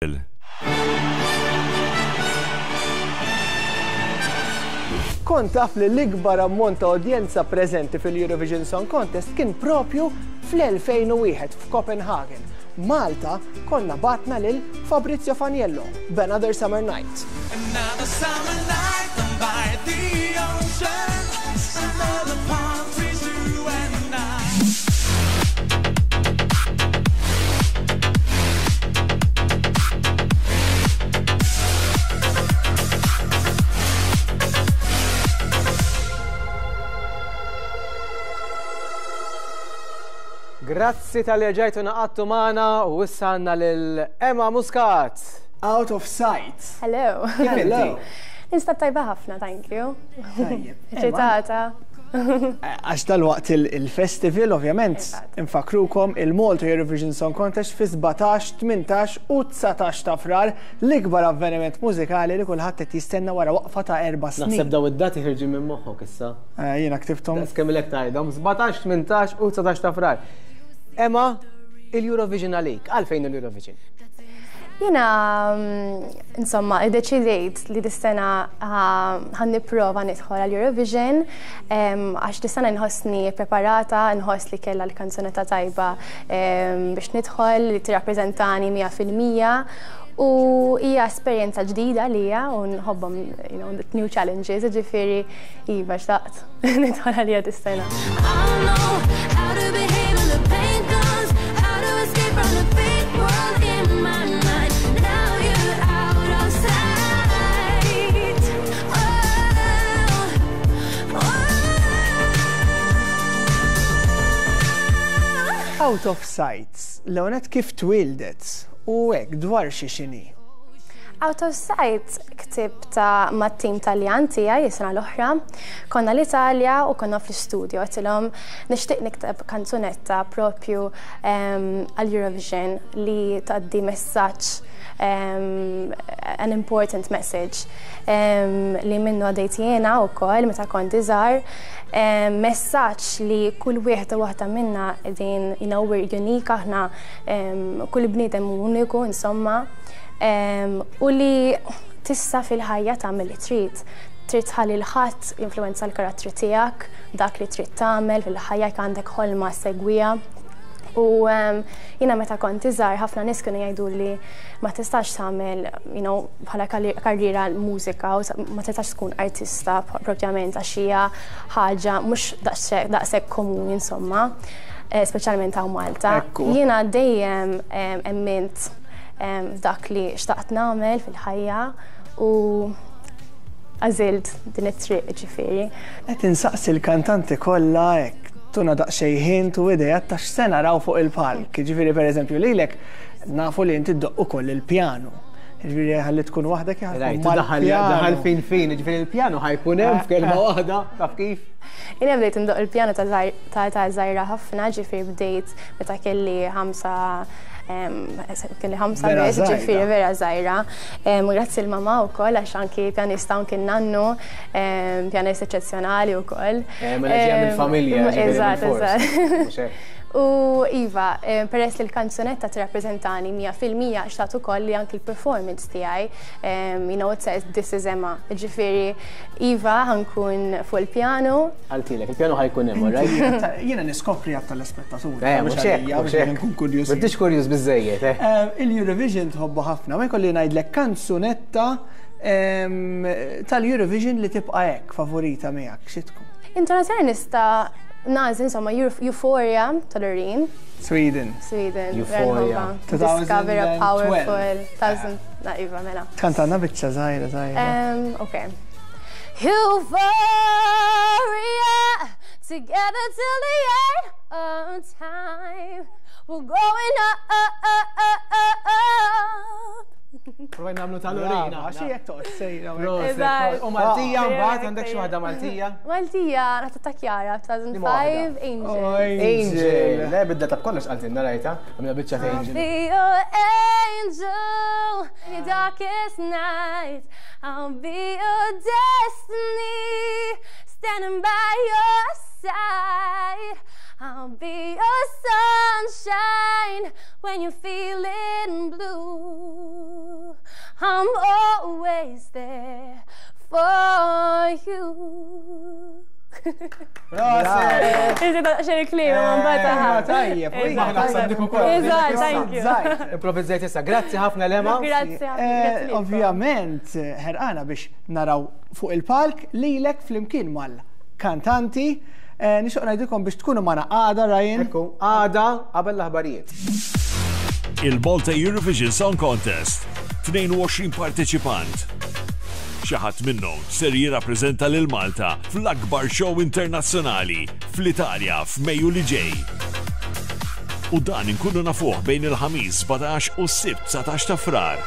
Il. Kont taf li l-ikbar ammont ta' udjenza preżenti fil-Eurovision Song Contest kien propju fl-2001 f'Copenhagen. Malta konna bgħatna lil Fabrizio Faniello b'Another Summer Night. Another summer night down by the ocean Another palm trees you and I Grazzi talli rġajtu ngħaqadtu magħna u issa għandna lil Emma Muscat. Out of sight. Hello. Kif inti? Ninstab tajba ħafna, thank you. Tajjeb. Eċitata. Għax dalwaqt il-festival, ovvjament, infakkrukom il-Malta Eurovision Song Contest fi 17, 18 u 19 ta' Frar, l-ikbar avveniment mużikali li kulħadd qed jistenna wara waqfa ta' erba' snin. Naħseb daw id-dati ħirġin minn moħħok issa. Eh, jiena ktibthom. Daqs kemm ilek tgħidhom, 17, 18 u 19 ta' Frar. Emma, il-Eurovision għalik, għalfejn il-Eurovision? Jiena, insomma, iddeċidejt li dis-sena ħa nipprova nidħol għal Eurovision għax dis-sena nħossni preparata, nħoss li kellha l-kanzunetta tajba biex nidħol li tirrappreżentani 100% u hija esperjenza ġdida lija u nħobbhom you know, new challenges, ġifieri iva xtaqt nidħol għalija dis-sena. I know how to behave when the pain comes, how to escape from the fake world in my mind. Now you're out of sight. Oh, oh. Out of sight, l-ewwel kif twildet u hekk dwar xi xini. Out of Sight ktibtha mat-tim Taljan tiegħi is-sena l-oħra. Konna l-Italja u konna fl-istudio għedtilhom nixtieq nikteb kanzunetta propju għal-Eurovision li tgħaddi messaġġ an important message li minnu għaddejt jiena wkoll meta kont iżgħar. Messaġġ li kull wieħed u waħda minna din you know, we're unique aħna kull bniedem uniku insomma. U li tista' fil-ħajja tagħmel li trid. Trid tħalli 'l ħadd jinfluwenza l-karattri tiegħek, dak li trid tagħmel fil-ħajja jekk għandek ħolma segwiha. U jiena meta kont iżgħar ħafna nies kienu jgħidu li ma tistax tagħmel you know, bħala karriera mużika u ma tistax tkun artista propjament għax hija ħaġa mhux daqshekk komuni insomma, eh, speċjalment hawn Malta. Ekku. Jiena dejjem emmint dak li xtaqt nagħmel fil-ħajja u għażilt din it-triq ġifieri. Qed insaqsi l-kantanti kollha hekk tuna daqsxejn hint u ideat ta' x'se naraw fuq il-palk. Ġifieri pereżempju lilek nafu li inti ddoqq ukoll il-pjanu. Ġifieri ħalli tkun waħdek Rajt, daħal daħal fin fin, ġifieri il-pjanu ħa jkun hemm f'kelma waħda, taf kif? Jiena bdejt indoqq il-pjanu ta' ta' ta' żgħira ħafna, ġifieri bdejt meta kelli ħamsa kelli ħamsa Vera biss, żgħira. ġifieri vera żgħira. Grazzi l-mamà wkoll għax anki pjanista anki n-nannu, pjanist eċċezzjonali wkoll. Eh, mela ġejja mill-familja, ġifieri Eżatt, bil-fors. eżatt. Mhux hekk? U Iva, peress li l-kanzunetta tirrappreżentani 100% xtaqt ukoll li anki l-performance tiegħi, you know, it says this is Emma. Ġifieri, Iva, ħa nkun fuq il-pjanu. Qaltilek, il-pjanu ħa jkun hemm, all right? Jiena niskopri għat tal-spettaturi. Eh, mhux hekk, għalija, mhux biex hekk. nkun kurjuż. M'intix kurjuż biżejjed, eh? Il-Eurovision tħobbu ħafna, ma jkolli ngħidlek kanzunetta tal-Eurovision li tibqa' hekk favorita miegħek, xi tkun? Internazzjonali nista' nagħżel insomma Euphoria ta' Loreen. Sweden. Sweden. Euphoria. Diska vera 2012. powerful. Thousand, na Iva, mela. Kantanna biċċa żgħira żgħira. Okay. Euphoria, together till the end of time. We're going up. Provajna nagħmlu ta' Loreen. Għax hija toqgħod sejra. Eżatt. U Maltija mbagħad għandek xi waħda Maltija? Maltija, nata ta' Chiara, 2005, Angel. Angel. Le bidla ta' kollox qaltilna rajta, għamilna biċċa ta' Angel. Be your angel in your darkest night. I'll be your destiny, standing by your side. I'll be your sunshine. When you're feeling blue, I'm always there for you. Proset! Iżda xejn kliem, ma mbagħad eh, Tajjeb, Eżatt, thank you. Improvvizzajt issa. Grazzi ħafna Lema. Grazzi ħafna. Eh, ovvjament, ħerqana biex naraw fuq il-palk lilek flimkien mal-kantanti. Eh, nixtieq ngħidilkom biex tkunu magħna għada Ryan. Ekku, għada qabel l-aħbarijiet. Il-Malta Eurovision Song Contest. 22 parteċipant. Xi ħadd minnhom ser jirrappreżenta lil Malta fl-akbar show internazzjonali fl-Italja f'Mejju li ġej. U dan inkunu nafuh bejn il-Ħamis 17 u s-Sibt 19 ta' Frar.